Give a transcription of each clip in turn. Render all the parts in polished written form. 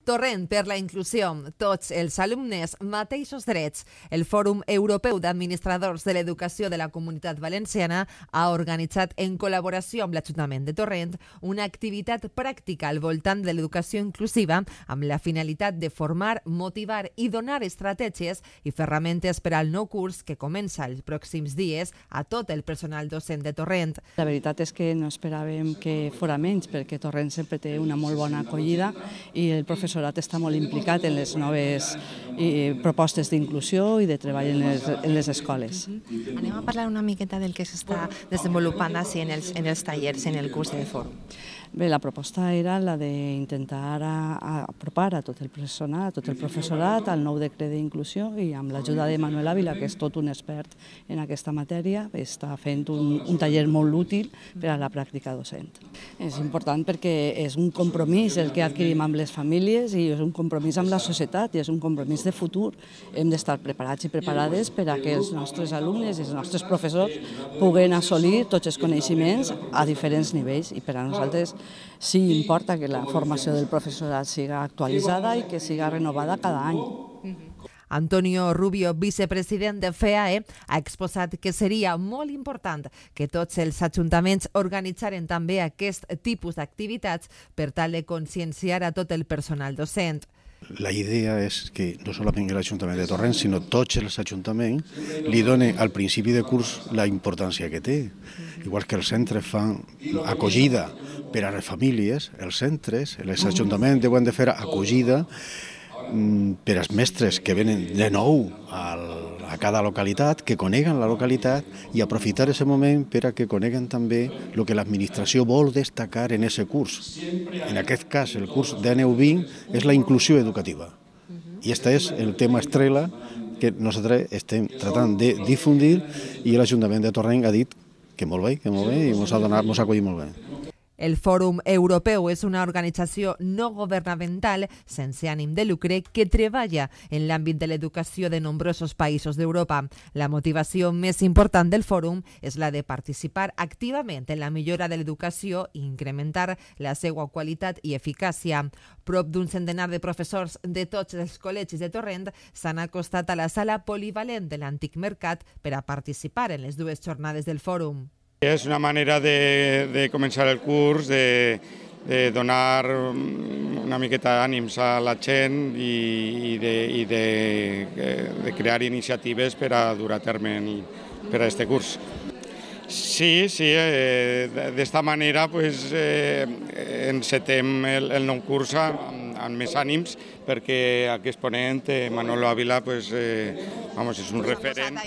Torrent per la inclusió, tots els alumnes, mateixos drets. El Fòrum Europeu d'Administradors de l'Educació de la Comunitat Valenciana ha organitzat en col·laboració amb l'Ajuntament de Torrent una activitat pràctica al voltant de l'educació inclusiva amb la finalitat de formar, motivar i donar estratègies i ferramentes per al nou curs que comença els pròxims dies a tot el personal docent de Torrent. La veritat és que no esperàvem que fora menys, perquè Torrent sempre té una molt bona acollida i el professorat està molt implicat en les noves propostes d'inclusió i de treball en les escoles. Anem a parlar una miqueta del que s'està desenvolupant en els tallers, en el curs del fòrum. Bé, la proposta era la d'intentar apropar a tot el personal, a tot el professorat, al nou decret d'inclusió, i amb l'ajuda de Manuel Ávila, que és tot un expert en aquesta matèria, està fent un taller molt útil per a la pràctica docent. És important perquè és un compromís el que adquirim amb les famílies i és un compromís amb la societat i és un compromís de futur. Hem d'estar preparats i preparades per a que els nostres alumnes i els nostres professors puguen assolir tots els coneixements a diferents nivells, i per a nosaltres sí importa que la formació del professorat siga actualitzada i que siga renovada cada any. Antonio Rubio, vicepresident de FEAE, ha exposat que seria molt important que tots els ajuntaments organitzaren també aquest tipus d'activitats per tal de conscienciar a tot el personal docent. La idea és que no solament l'Ajuntament de Torrent, sinó tots els ajuntaments li donen al principi de curs la importància que té. Igual que els centres fan acollida per a les famílies, els centres, els ajuntaments deuen de fer acollida per als mestres que venen de nou a cada localitat, que coneguen la localitat i aprofitar aquest moment per a que coneguen també el que l'administració vol destacar en aquest curs. En aquest cas, el curs d'ANU20 és la inclusió educativa. I aquest és el tema estrella que nosaltres estem tratant de difundir i l'Ajuntament de Torrent ha dit que molt bé i ens ha acollit molt bé. El Fòrum Europeu és una organització no governamental sense ànim de lucre que treballa en l'àmbit de l'educació de nombrosos països d'Europa. La motivació més important del fòrum és la de participar activament en la millora de l'educació i incrementar la seva qualitat i eficàcia. Prop d'un centenar de professors de tots els col·legis de Torrent s'han acostat a la sala polivalent de l'Antic Mercat per a participar en les dues jornades del fòrum. És una manera de començar el curs, de donar una miqueta d'ànims a la gent i de crear iniciatives per a dur a terme per a aquest curs. Sí, d'esta manera encetem el nou curs amb més ànims, perquè aquest ponent, Manolo Ávila, és un referent.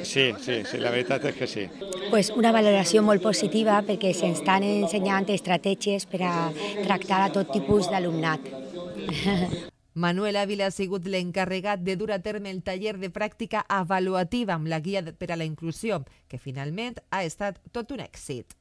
Sí, la veritat és que sí. Una valoració molt positiva perquè se'ns estan ensenyant estratègies per a tractar a tot tipus d'alumnat. Manuel Ávila ha sigut l'encarregat de dur a terme el taller de pràctica avaluativa amb la guia per a la inclusió, que finalment ha estat tot un èxit.